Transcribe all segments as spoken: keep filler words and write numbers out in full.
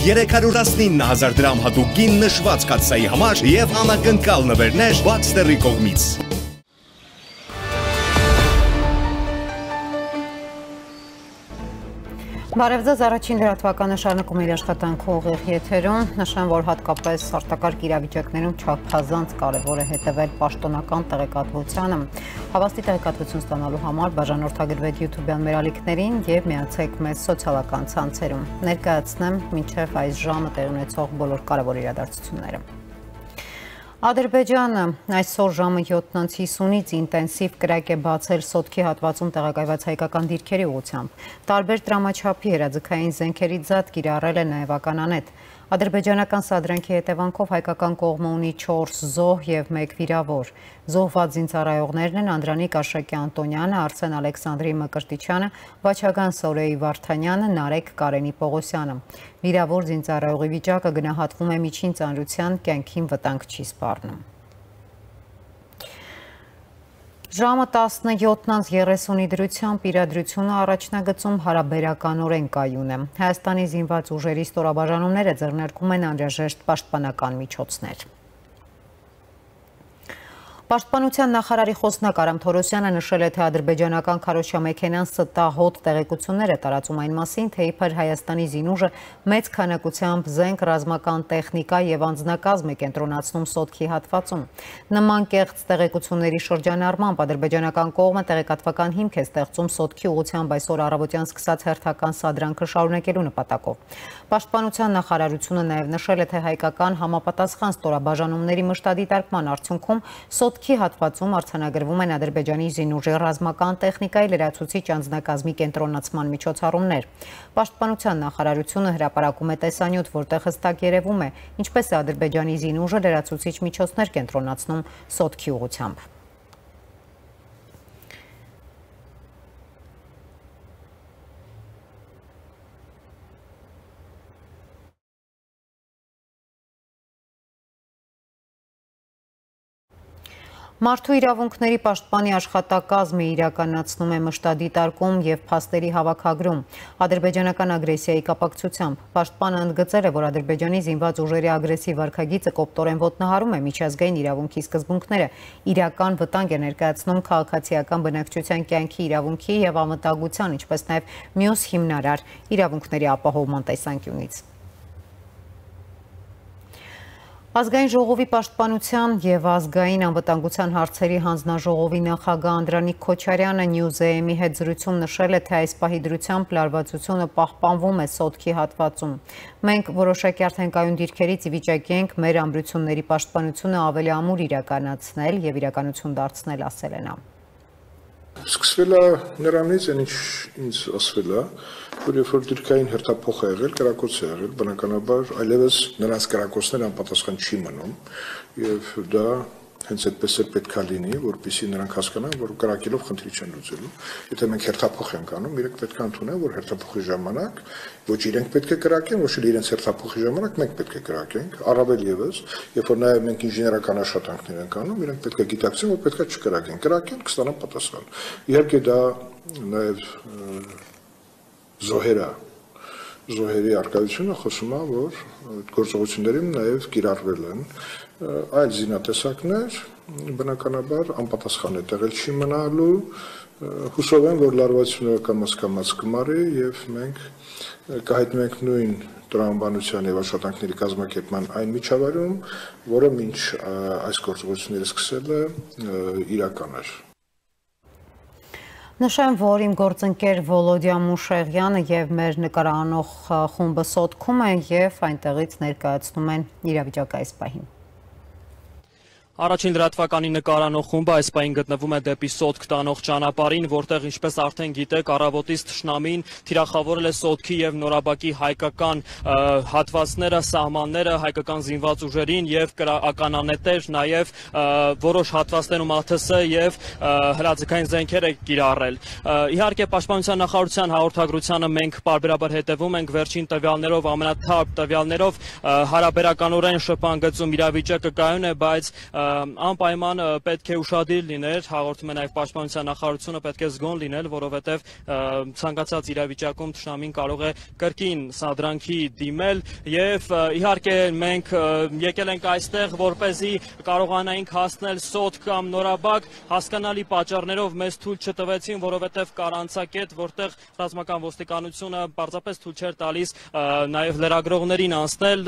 երեք հարյուր տասնինը հազար դրամ հատուկ գին նշված կաթսայի համար և անակնկալ նվերներ Baxter-ի կողմից։ Բարև ձեզ, առաջին լրատվականը շարունակում է իր աշխատանքը ուղիղ եթերում, նշեմ, որ հատկապես արտակարգ իրավիճակներում չափազանց կարևոր է հետևել պաշտոնական տեղեկատվությանը։ Հավաստի տեղեկատվություն ստանալու համար բաժանորդագրվեք YouTube-յան մեր ալիքներին և միացեք մեզ սոցիալական ցանցերում։ Ներկայացնեմ մինչև այս ժամը տեղի ունեցող բոլոր կարևոր իրադարձությունները։ Ադրբեջանը այսօր ժամը յոթ հիսունից ինտենսիվ կրակ է բացել Սոտքի հատվածում տեղակայված հայկական դիրքերի ուղղությամբ։ Տարբեր տրամաչափի հրաձգային զենքերի ձատ կիրառել է նաև ականանետ։ Ադրբեջանական սադրանքի հետևանքով հայկական կողմը ունի չորս զոհ և մեկ վիրավոր։ Զոհված զինծառայողներն են Անդրանիկ Աշակի Անտոնյանը, Արսեն Ալեքսանդրի Մկրտիչյանը, Վաչագան Սորեի Վարդանյանը, Նարեկ Կարենի Պողոսյանը։ Վիրավոր զինծառայողի վիճակը գնահատվում է միջին ծանրության, կյանքին վտանգ չի սպառնում։ Ժամը տասնյոթ երեսունի դրությամբ իրադրությունը առաջնագծում հարաբերականորեն կայուն է։ Հայաստանի զինված ուժերի ստորաբաժանումները ձեռնարկում են անհրաժեշտ պաշտպանական միջոցներ։ Պաշտպանության նախարարի խոսնակ Արամ Թորոսյանը նշել է, թե ադրբեջանական քարոզչամեքենան ստահոդ տեղեկություններ է տարածում այն մասին, թե իբր Հայաստանի զինուժը մեծ քանակությամբ զենք, ռազմական տեխնիկա և անձնակազմ է կենտրոնացնում Սոտքի հատվածում։ Նման կեղծ տեղեկությունների շրջանառմամբ ադրբեջանական կողմը տեղեկատվական հիմք է ստեղծում Սոտքի ուղղությամբ այսօր առավոտյան սկսած հերթական սադրանքը շարունակելու նպատակով։ Պաշտպանության նախարարությունը նաև նշել է, թե հայկական համապատասխան ստորաբաժանումների մշտադիտարկման արդյունքում Սոտքի հատվածում արձանագրվում են Ադրբեջանի զինուժի ռազմական տեխնիկայի լրացուցիչ անձնակազմի կենտրոնացման միջոցառումներ։ Պաշտպանության նախարարությունը հրապարակում է տեսանյութ, որտեղ հստակ երևում է, ինչպես է Ադրբեջանի զինուժը լրացուցիչ միջոցներ կենտրոնացնում Սոտքի ուղղությամբ։ Մարդու իրավունքների պաշտպանի աշխատակազմը իրականացնում է մշտադիտարկում և փաստերի հավաքագրում ադրբեջանական ագրեսիայի կապակցությամբ։ Պաշտպանը ընդգծել է, որ Ադրբեջանի զինված ուժերի ագրեսիվ վարքագիծը կոպտորեն ոտնահարում է միջազգային իրավունքի սկզբունքները, իրական վտանգ է ներկայացնում քաղաքացիական բնակչության կյանքի իրավունքի և անվտանգության, ինչպես նաև մյուս հիմնարար իրավունքների ապահովման տեսանկյունից։ Ազգային ժողովի պաշտպանության և ազգային անվտանգության հարցերի հանձնաժողովի նախագահ Անդրանիկ Քոչարյանը Նյուզեեմի հետ զրույցում նշել է, թե այս պահի դրությամբ լարվածությունը պահպանվում է Սոտքի հատվածում։ Մենք որոշակի արդեն կայուն դիրքերից ի վիճակի ենք մեր ամրությունների պաշտպանությունը ավելի ամուր իրականացնել և իրականություն դարձնել, ասել է նա։ Սկսվել է նրանից, այն ինչ ինձ ասվել է, որ երբ որ դիրքային հերթափոխ է եղել, կրակոց է եղել, բնականաբար այլևս նրանց կրակոցները անպատասխան չի մնում եւ դա հենց այդպես էլ պետք է լինի, որպեսզի նրանք հասկանան, որ կրակելով խնդրի չեն լուծելու։ Եթե մենք հերթափոխ ենք անում, իրենք պետք է ընդունեն, որ հերթափոխի ժամանակ ոչ իրենք պետք է կրակեն, ոչ էլ իրենց հերթափոխի ժամանակ մենք պետք է կրակենք, առավել եւս, երբ որ նաեւ մենք ինժեներական աշխատանքներ ենք անում, իրենք պետք է գիտակցեն, որ պետք է չկրակեն, կրակեն, կստանան պատասխան։ Իհարկե դա նաեւ զոհերա զոհերի արկայությունը խոսում է, որ գործողություններում նաև կիրառվել են այլ զինատեսակներ, բնականաբար անպատասխան է տեղել չի մնալու, հուսով եմ, որ լարվածությունը կամաց-կամաց կմարի և մենք կհայտնվենք նույն տրամաբանության և աշխատանքների կազմակերպման այն միջավայրում, որը մինչ այս գործողությունները սկսել է իրական էր։ Նշեմ, որ իմ գործընկեր Վոլոդիա Մուշեղյանը և մեր նկարանող խումբը Սոտքում են և այնտեղից ներկայացնում են իրավիճակը այս պահին։ Առաջին լրատվականի նկարանող խումբը այս պահին գտնվում է դեպի Սոտք տանող ճանապարհին, որտեղ ինչպես արդեն գիտեք, առավոտից թշնամին թիրախավորել է Սոտքի և Նորաբակի հայկական հատվածները, սահմանները, հայկական զինված ուժերին և ականանետեր, նաև որոշ հատվածներում ԱԹՍ և հրաձգային զենքեր է կիրառել։ Իհարկե, Պաշտպանության նախարարության հաղորդագրությանը մենք պարբերաբար հետևում ենք վերջին տվյալներով, ամենաթարմ տվյալներով հարաբերականորեն շփանգծում իրավիճակը կայուն է, բայց անպայման պետք է ուշադիր լիներ, հաղորդում է նաև պաշտպանության նախարարությունը պետք է զգոն լինել, որովհետև ցանկացած իրավիճակում թշնամին կարող է կրկին սադրանքի դիմել եւ իհարկե մենք եկել ենք այստեղ, որպեսզի կարողանայինք հասնել սոթ կամ նորաբակ, հասկանալի պատճառներով մեզ թույլ չտվեցին, որովհետև կար անցակետ, որտեղ ռազմական ոստիկանությունը պարզապես թույլ չէր տալիս նաև լրագրողներին անցնել,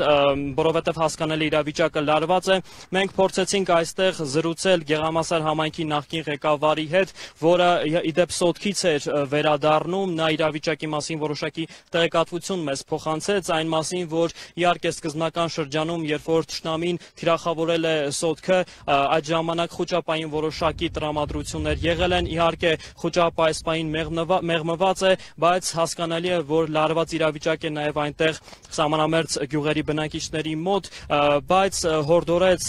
որովհետև հասկանալի իրավիճակը լարված է։ Մենք փորձեցինք այստեղ զրուցել Գեղամասար համայնքի նախկին ղեկավարի հետ, որը իդեպ սոտքից էր վերադառնում, նա իրավիճակի մասին որոշակի տեղեկատվություն մեզ փոխանցեց, այն մասին, որ իհարկե սկզբնական շրջանում, երբ որ թշնամին թիրախավորել է սոտքը, այդ ժամանակ խոճապային որոշակի տրամադրություններ եղել են, իհարկե խոճապը այս պահին մեղմված է, բայց հասկանալի է, որ լարված իրավիճակ է նաև այնտեղ սահմանամերձ գյուղերի բնակիչների մոտ, բայց հորդորեց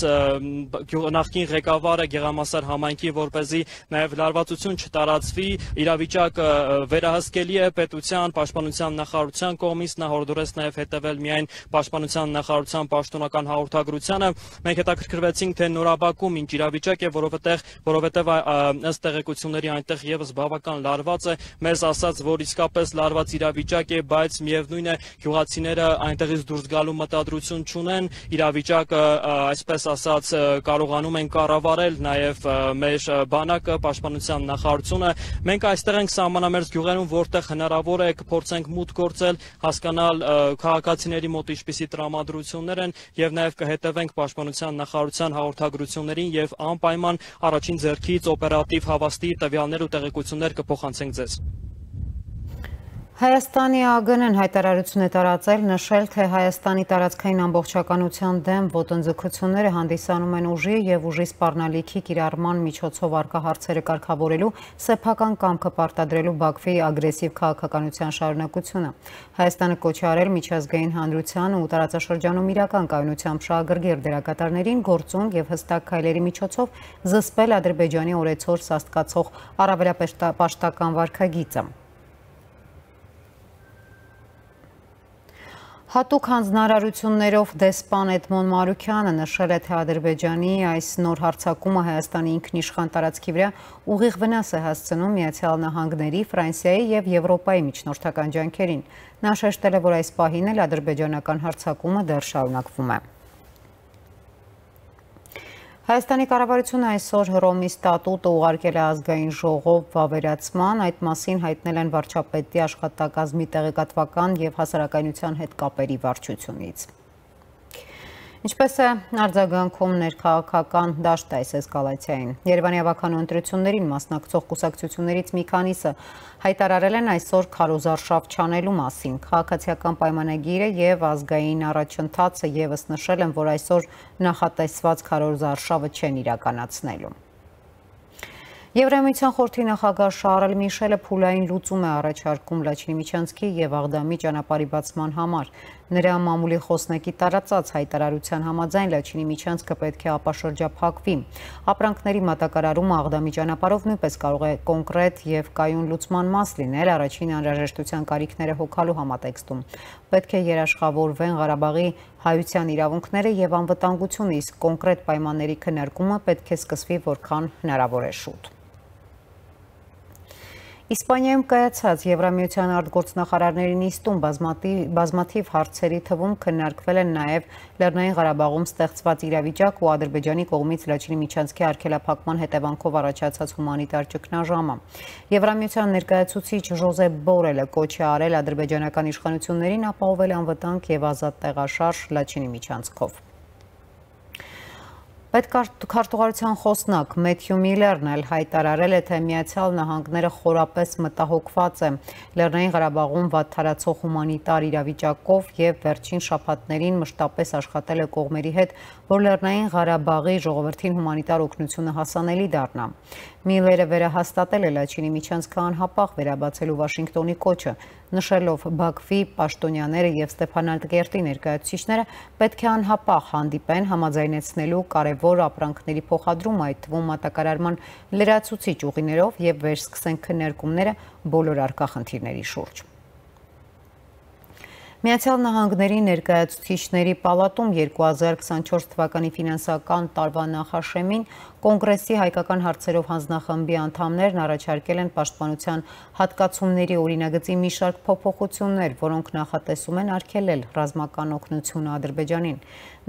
նախկին ղեկավարը Գեղամասար համայնքի, որպեսզի նաև լարվածություն չտարածվի, իրավիճակը վերահսկելի է պետության, պաշտպանության նախարարության կողմից, նա հորդորեց նաև հետևել միայն պաշտպանության նախարարության պաշտոնական հաղորդագրությանը։ Մենք հետաքրքրվեցինք, թե նորաբակում ինչ իրավիճակ է, որովհետև որովհետև ըստ տեղեկությունների այնտեղ եւս բավական լարված է, մեզ ասաց, որ իսկապես լարված իրավիճակ է, բայց միևնույն է գյուղացիները այնտեղից դուրս գալու մտադրություն չունեն, իրավիճակը այսպես ասած կարողանում են կառավարել նաև մեր բանակը, պաշտպանության նախարարությունը։ Մենք այստեղ ենք սահմանամերձ գյուղերում, որտեղ հնարավոր է կփորձենք մուտք գործել, հասկանալ քաղաքացիների մոտ ինչպիսի տրամադրություններ են եւ նաև կհետևենք պաշտպանության նախարարության հաղորդագրություններին եւ անպայման առաջին ձեռքից օպերատիվ հավաստի տվյալներ ու տեղեկություններ կփոխանցենք ձեզ։ Հայաստանի ԱԳՆ-ն հայտարարություն է տարածել, նշել, թե Հայաստանի տարածքային ամբողջականության դեմ ոտնձգությունները հանդիսանում են ուժի եւ ուժի սպառնալիքի կիրառման միջոցով առկա հարցերը կարգավորելու սեփական կամքը պարտադրելու Բաքվի ագրեսիվ քաղաքականության շարունակությունը։ Հայաստանը կոչ է արել միջազգային հանրությանը ու տարածաշրջանում իրական կայունությամբ շահագրգիռ դերակատարներին գործուն եւ հստակ քայլերի միջոցով զսպել Ադրբեջանի օրեցօր սաստկացող առավելապաշտական վարքագիծը։ Հատուկ հանձնարարություններով դեսպան Էդմոն Մարուքյանը նշել է, թե Ադրբեջանի այս նոր հարձակումը Հայաստանի ինքնիշխան տարածքի վրա ուղիղ վնաս է հասցնում Միացյալ Նահանգների, Ֆրանսիայի եւ Եվրոպայի միջնորդական ջանքերին։ Նա շեշտել է, որ այս պահին էլ ադրբեջանական հարձակումը դեռ շարունակվում է։ Հայաստանի կառավարությունը այսօր Հռոմի ստատուտը ուղարկել է ազգային ժողով վավերացման, այդ մասին հայտնել են վարչապետի աշխատակազմի տեղեկատվական եւ հասարակայնության հետ կապերի վարչությունից։ Ինչպես է արձագանքում ներքաղաքական դաշտը այս էսկալացիային։ Երևանի ավականու ընտրություններին մասնակցող կուսակցություններից մի քանիսը հայտարարել են այսօր քարոզարշավ չանելու մասին։ Քաղաքացիական պայմանագիրը եւ ազգային առաջընթացը եւս նշել են, որ այսօր նախատեսված քարոզարշավը չեն իրականացնելու։ Եվրամիության խորհրդի նախագահ Շարլ Միշելը փուլային լուծում է առաջարկում Լաչինի Միչանցքի եւ Աղդամի ճանապարհի բացման համար։ Նրա մամուլի խոսնակի տարածած հայտարարության համաձայն Լաչինի Միչանցքը պետք է ապաշրջափակվի։ Ապրանքների մատակարարումը Աղդամի ճանապարհով նույնպես կարող է կոնկրետ եւ կայուն լուծման մաս լինել առաջին անհրաժեշտության կարիքները հոգալու համատեքստում։ Պետք է երաշխավորվեն Ղարաբաղի հայության իրավունքները եւ անվտանգությունը, իսկ կոնկրետ պայմանների քննարկումը պետք է սկսվի որքան հնարավոր է շուտ։ Իսպանիայում կայացած Եվրամիության արտգործնախարարների նիստում բազմաթիվ հարցերի թվում քննարկվել են նաև Լեռնային Ղարաբաղում ստեղծված իրավիճակ ու Ադրբեջանի կողմից Լաչինի Միչանցքի արգելափակման հետևանքով առաջացած հումանիտար ճգնաժամը։ Եվրամիության ներկայացուցիչ Ժոզեփ Բորելը կոչ է արել ադրբեջանական իշխանություններին ապահովել անվտանգ եւ ազատ տեղաշարժ Լաչինի Միչանցքով։ Պետքարտուղարության խոսնակ Մեթյու Միլերն էլ հայտարարել է, թե Միացյալ Նահանգները խորապես մտահոգված է Լեռնային Ղարաբաղում վատթարացող հումանիտար իրավիճակով եւ վերջին շաբաթներին մշտապես աշխատել է կողմերի հետ, որ Լեռնային Ղարաբաղի ժողովրդին հումանիտար օգնությունը հասանելի դառնա։ Միլերը վերահաստատել է Լաչինի Միչանցքը անհապաղ վերաբացելու Վաշինգտոնի կոչը, նշելով Բաքվի պաշտոնյաները եւ Ստեփանագերտի ներկայացուցիչները պետք է անհապաղ հանդիպեն համաձայնեցնելու կարևոր ապրանքների փոխադրում, այդ թվում մատակարարման լրացուցիչ ուղիներով եւ վերսկսեն քննարկումները բոլոր առկա խնդիրների շուրջ։ Միացյալ Նահանգների ներկայացուցիչների պալատում երկու հազար քսանչորս թվականի ֆինանսական տարվա նախաշեմին Կոնգրեսի հայկական հարցերով հանձնախմբի անդամներն առաջարկել են պաշտպանության հատկացումների օրինագծի մի շարք փոփոխություններ, որոնք նախատեսում են արգելել ռազմական օգնությունը Ադրբեջանին։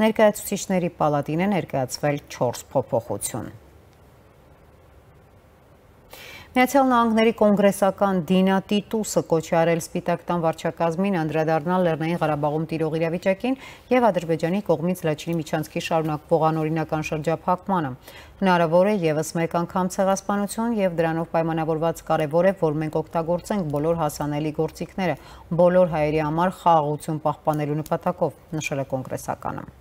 Ներկայացուցիչների պալատին է ներկայացվել չորս փոփոխություն։ Միացյալ Նահանգների կոնգրեսական Դինա Տիտուսը կոչ է արել Սպիտակ տան վարչակազմին անդրադառնալ Լեռնային Ղարաբաղում տիրող իրավիճակին եւ Ադրբեջանի կողմից Լաչինի միջանցքի շարունակվող անօրինական շրջափակմանը։ Հնարավոր է եւս մեկ անգամ ցեղասպանություն եւ դրանով պայմանավորված կարեւոր է, որ մենք օգտագործենք բոլոր հասանելի գործիքները, բոլոր հայերի համար խաղաղություն պահպանելու նպատակով, նշել է կոնգրեսականը։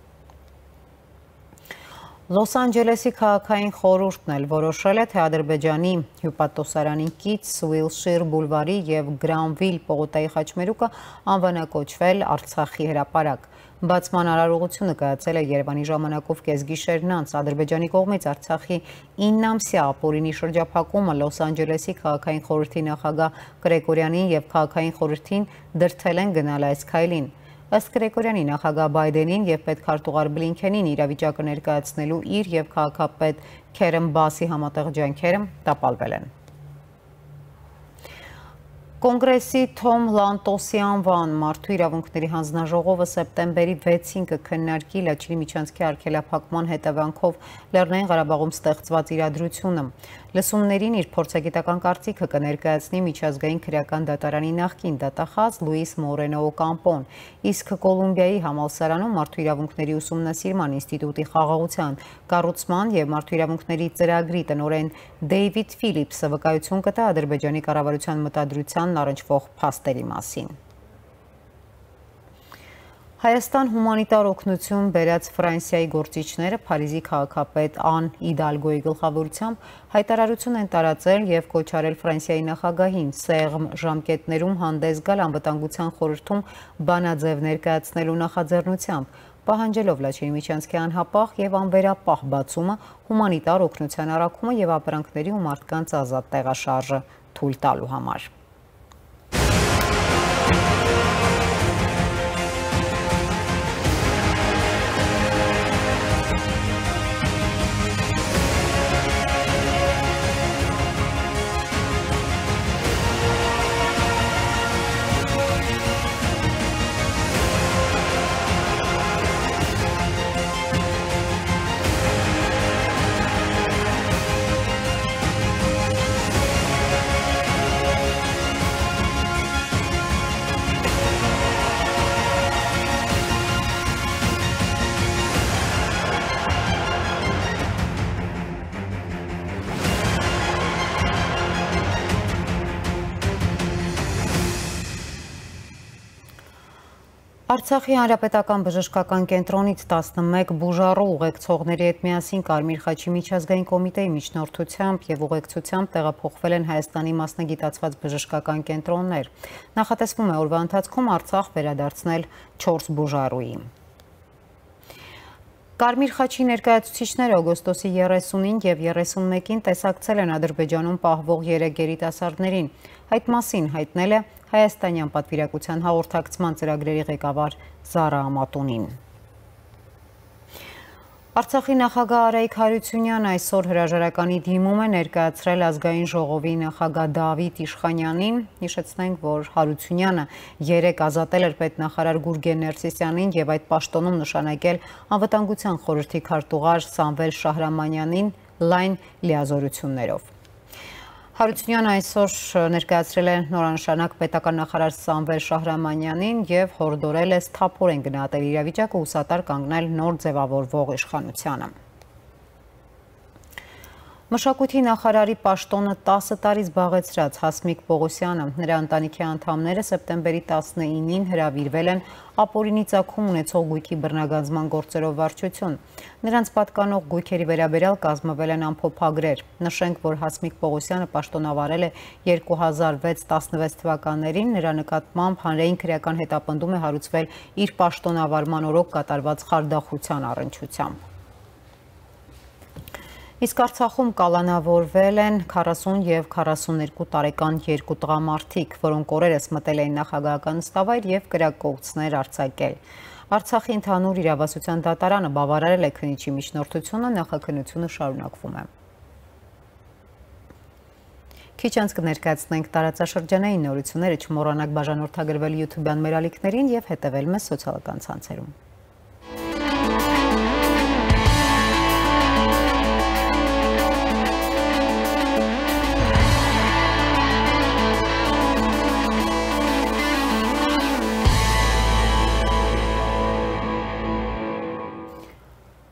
Լոս Անջելեսի քաղաքային խորհուրդն էլ որոշել է, թե Ադրբեջանի հյուպատոսարանին կից Ուիլշիր բուլվարի եւ Գրանվիլ պողոտայի խաչմերուկը անվանակոչվել Արցախի հրապարակ։ Բացման արարողությունը կայացել է Երևանի ժամանակով կեսգիշերն անց։ Ադրբեջանի կողմից Արցախի ինը ամսյա ապօրինի շրջափակումը Լոս Անջելեսի քաղաքային խորհրդի նախագահ Գրեգորյանին եւ քաղաքային խորհրդին դրդել են գնալ այս քայլին։ Ըստ Գրեգորյանի նախագահ Բայդենին եւ պետքարտուղար Բլինքենին իրավիճակը ներկայացնելու իր եւ քաղաքապետ Քերեմ Բասի համատեղ ջանքերը տապալվել են։ Կոնգրեսի Թոմ Լանտոսի անվան մարդու իրավունքների հանձնաժողովը սեպտեմբերի վեցին կքննարկի Լաչինի միջանցքի արգելափակման հետևանքով Լեռնային Ղարաբաղում ստեղծված իրադրությունը։ Լսումներին իր փորձագիտական կարծիքը կներկայացնի միջազգային քրեական դատարանի նախկին դատախազ Լուիս Մորենո Օկամպոն, իսկ Կոլումբիայի համալսարանում մարդու իրավունքների ուսումնասիրման ինստիտուտի խաղաղության, կառուցման եւ մարդու իրավունքների ծրագրի տնօրեն Դեյվիդ Ֆիլիպսը վկայություն կտա Ադրբեջանի կառավարության մտադրության առնչվող փաստերի մասին։ Հայաստան հումանիտար օգնություն բերած Ֆրանսիայի գործիչները Փարիզի քաղաքապետ Ան Իդալգոյի գլխավորությամբ հայտարարություն են տարածել եւ կոչ արել Ֆրանսիայի նախագահին սեղմ ժամկետներում հանդես գալ անվտանգության խորհրդում բանաձև ներկայացնելու նախաձեռնությամբ, պահանջելով Լաչինի միջանցքի անհապաղ եւ անվերապահ բացումը, հումանիտար օգնության առաքումը եւ ապրանքների ու մարդկանց ազատ տեղաշարժը թույլ տալու համար։ Արցախի հանրապետական բժշկական կենտրոնից տասնմեկ բուժառու ուղեկցողների հետ միասին Կարմիր խաչի միջազգային կոմիտեի միջնորդությամբ եւ ուղեկցությամբ տեղափոխվել են Հայաստանի մասնագիտացված բժշկական կենտրոններ։ Նախատեսվում է օրվա ընթացքում Արցախ վերադարձնել չորս բուժառուի։ Կարմիր խաչի ներկայացուցիչները օգոստոսի երեսունին եւ երեսունմեկին տեսակցել են Ադրբեջանում պահվող երեք երիտասարդներին։ Այդ մասին հայտնել է Հայաստանյան պատվիրակության հաղորդակցման ծրագրերի ղեկավար Զարա Ամատունին։ Արցախի նախագահ Արայիկ Հարությունյանը այսօր հրաժարականի դիմում է ներկայացրել ազգային ժողովի նախագահ Դավիթ Իշխանյանին։ Հիշեցնենք, որ Հարությունյանը երեկ ազատել էր պետնախարար Գուրգեն Ներսիսյանին եւ այդ պաշտոնում նշանակել անվտանգության խորհրդի քարտուղար Սամվել Շահրամանյանին լայն լիազորություններով։ Հարությունյանը այսօր ներկայացրել է նորանշանակ պետական նախարար Սամվել Շահրամանյանին եւ հորդորել է սթափորեն գնահատել իրավիճակը ու սատար կանգնել նոր ձևավորվող իշխանությանը։ Մշակույթի նախարարի պաշտոնը տասը տարի զբաղեցրած Հասմիկ Պողոսյանը, նրա ընտանիքի անդամները սեպտեմբերի տասնինին հրավիրվել են ապօրինի ծագում ունեցող գույքի բռնագանձման գործերով վարչություն։ Նրանց պատկանող գույքերի վերաբերյալ կազմվել են ամփոփագրեր։ Նշենք, որ Հասմիկ Պողոսյանը պաշտոնավարել է երկու հազար վեց տասնվեց թվականներին, նրա նկատմամբ հանրային քրեական հետապնդում է հարուցվել իր պաշտոնավարման օրոք կատարված խարդախության առնչությամբ։ Իսկ Արցախում կալանավորվել են քառասուն և քառասուներկու տարեկան երկու տղամարդիկ, որոնք օրերս մտել էին նախագահական նստավայր և կրակկոծներ արձակել։ Արցախի ընդհանուր իրավասության դատարանը բավարարել է քննիչի միջնորդությունը, նախաքննությունը շարունակվում է։ Քիչ անց կներկայացնենք տարածաշրջանային նորությունները, չմոռանաք բաժանորդագրվել YouTube-յան մեր ալիքներին և հետևել մեզ սոցիալական ցանցերում։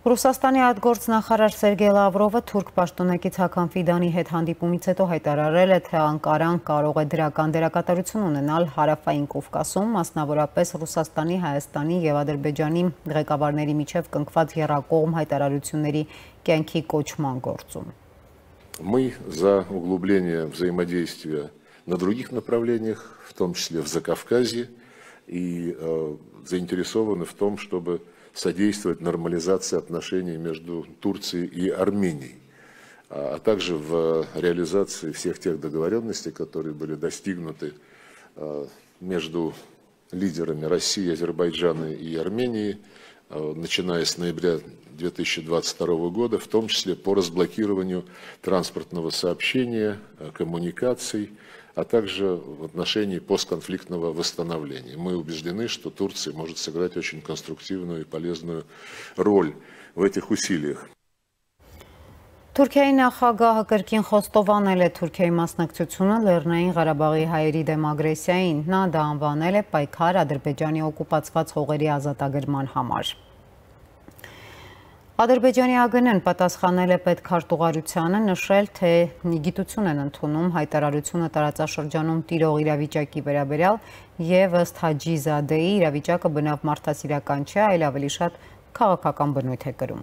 Ռուսաստանի արտգործնախարար Սերգեյ Լավրովը թուրք պաշտոնակից Հական Ֆիդանի հետ հանդիպումից հետո հայտարարել է, թե Անկարան կարող է դրական դերակատարություն ունենալ Հարավային Կովկասում, մասնավորապես Ռուսաստանի, Հայաստանի և Ադրբեջանի ղեկավարների միջև կնքված եռակողմ հայտարարությունների կյանքի կոչման գործում։ Мы за углубление взаимодействия на других направлениях, в том числе в Закавказье, и э, заинтересованы в том, чтобы содействовать нормализации отношений между Турцией и Арменией, а также в реализации всех тех договоренностей, которые были достигнуты между лидерами России, Азербайджана и Армении, начиная с ноября две тысячи двадцать второго года, в том числе по разблокированию транспортного сообщения, коммуникаций, а также в отношении постконфликтного восстановления. Мы убеждены, что Турция может сыграть очень конструктивную и полезную роль в этих усилиях. Թուրքիայի նախագահը կրկին խոստովանել է Թուրքիայի մասնակցությունը Լեռնային Ղարաբաղի հայերի դեմ ագրեսիային, նա դա անվանել է պայքար Ադրբեջանի օկուպացված հողերի ազատագրման համար։ Ադրբեջանի ԱԳՆ-ն պատասխանել է պետքարտուղարությանը, նշել, թե գիտություն են ընդունում հայտարարությունը տարածաշրջանում տիրող իրավիճակի վերաբերյալ եւ ըստ Հաջի Զադեի իրավիճակը բնավ մարդասիրական չէ, այլ ավելի շատ քաղաքական բնույթ է կրում։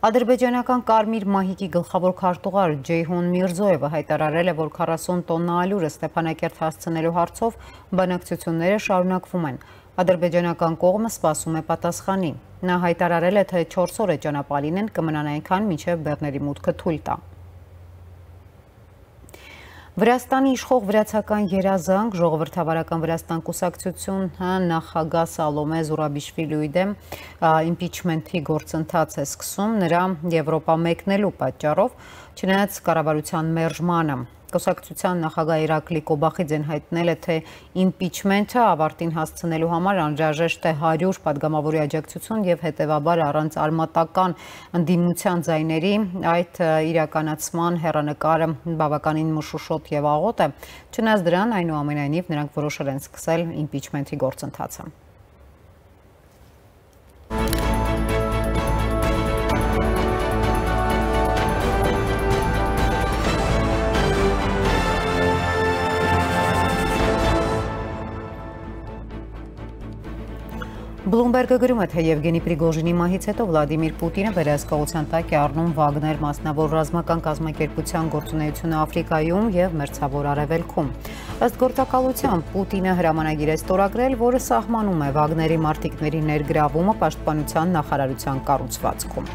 Ադրբեջանական Կարմիր մահիկի գլխավոր քարտուղար Ջեյհուն Միրզոևը հայտարարել է, որ քառասուն տոննա ալյուրը Ստեփանակերտ հասցնելու հարցով բանակցությունները շարունակվում են։ Ադրբեջանական կողմը սպասում է պատասխանի։ Նա հայտարարել է, թե չորս օր է ճանապարհին են, կմնան այնքան, մինչև բեռների մուտքը թույլ տա։ Վրաստանի իշխող վրացական երազանք ժողովրդավարական Վրաստան կուսակցությունը նախագահ Սալոմե Զուրաբիշվիլիի դեմ իմպիչմենթի գործընթաց է սկսում նրա Եվրոպա մեկնելու պատճառով, չնայած կառավարության մերժմանը։ Կուսակցության նախագահ Իրակլի Կոբախիձեն հայտնել է, թե իմպիչմենթը ավարտին հասցնելու համար անհրաժեշտ է հարյուր падգամավորի աջակցություն եւ հետեւաբար առանց արմատական ընդդիմության ձայների այդ իրականացման հեռանկարը բավականին մշուշոտ եւ աղոտ է, չնայած դրան այնուամենայնիվ նրանք որոշել են սկսել իմպիչմենթի գործընթացը։ Բլումբերգը գրում է, թե Եվգենի Պրիգոժինի մահից հետո Վլադիմիր Պուտինը վերահսկողության տակ է առնում Վագներ մասնավոր ռազմական կազմակերպության գործունեությունը Աֆրիկայում եւ Մերձավոր Արևելքում։ Ըստ գործակալության Պուտինը հրամանագիր է ստորագրել, որը սահմանում է Վագների մարտիկների ներգրավումը պաշտպանության նախարարության կառուցվածքում։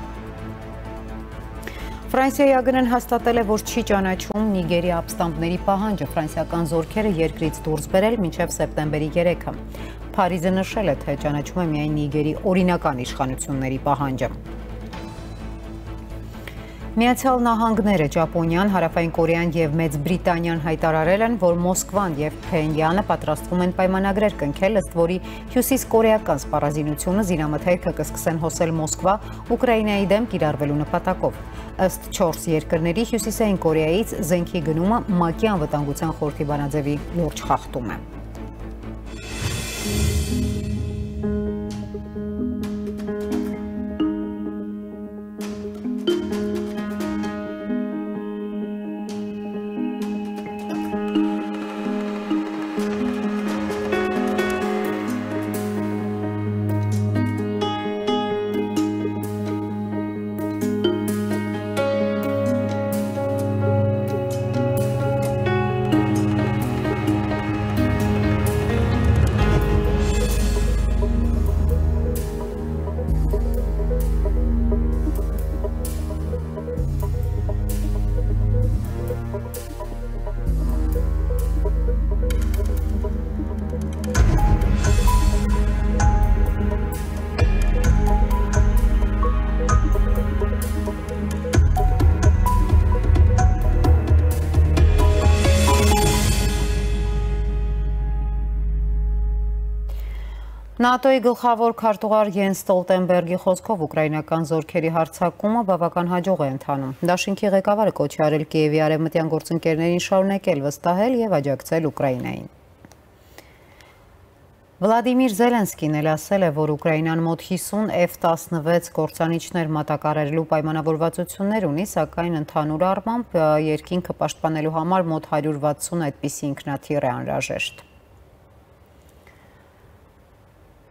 Ֆրանսիայի ԱԳՆ-ն հաստատել է, որ չի ճանաչում Նիգերի ապստամբների պահանջը ֆրանսիական զորքերը երկրից դուրս բերել մինչև սեպտեմբերի երեքը։ Փարիզը նշել է, թե ճանաչում է միայն Նիգերի օրինական իշխանությունների պահանջը։ Միացյալ Նահանգները, Ճապոնիան, Հարավային Կորեան եւ Մեծ Բրիտանիան հայտարարել են, որ Մոսկվան եւ Փենյանը պատրաստվում են պայմանագրեր կնքել, ըստ որի հյուսիսկորեական սպառազինությունը զինամթերքը կսկսեն հոսել Մոսկվա Ուկրաինայի դեմ կիրառվելու նպատակով։ Ըստ չորս երկրների Հյուսիսային Կորեայից զենքի գնումը ՄԱԿ-ի անվտանգության խորհրդի բանաձևի լուրջ խախտում է։ ՆԱՏՕ-ի գլխավոր քարտուղար Յենս Ստոլտենբերգի խոսքով ուկրաինական զորքերի հարձակումը բավական հաջող է ընթանում։ Դաշինքի ղեկավարը կոչ է արել Կիևի արևմտյան գործընկերներին շարունակել վստահել եւ աջակցել Ուկրաինային։ Վլադիմիր Զելենսկին էլ ասել է, որ Ուկրաինան մոտ հիսուն F տասնվեց կործանիչներ մատակարարելու պայմանավորվածություններ ունի, սակայն ընդհանուր առմամբ երկինքը պաշտպանելու համար մոտ հարյուր վաթսուն այդպիսի ինքնաթիռ է անհրաժեշտ։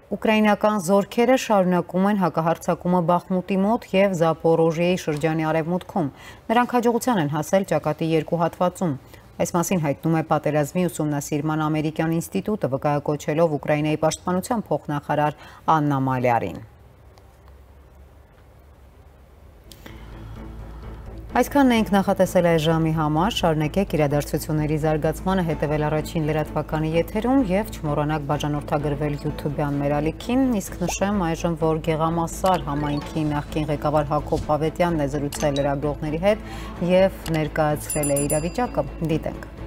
Ուկրաինական զորքերը շարունակում են հակահարձակումը Բախմուտի մոտ եւ Զապորոժիեի շրջանի արևմուտքում։ Նրանք հաջողության են հասել ճակատի երկու հատվածում։ Այս մասին հայտնում է Պատերազմի ուսումնասիրման ամերիկյան ինստիտուտը, վկայակոչելով Ուկրաինայի պաշտպանության փոխնախարար Աննա Մալյարին։ Այսքանն ենք նախատեսել այս ժամի համար, շարունակեք իրադարձությունների զարգացմանը հետևել առաջին լրատվականի եթերում եւ չմոռանաք բաժանորդագրվել YouTube-յան մեր ալիքին, իսկ նշեմ այժմ, որ Գեղամասար համայնքի նախկին ղեկավար Հակոբ Ավետյանն է զրուցել լրագրողների հետ եւ ներկայացրել է իրավիճակը, դիտենք։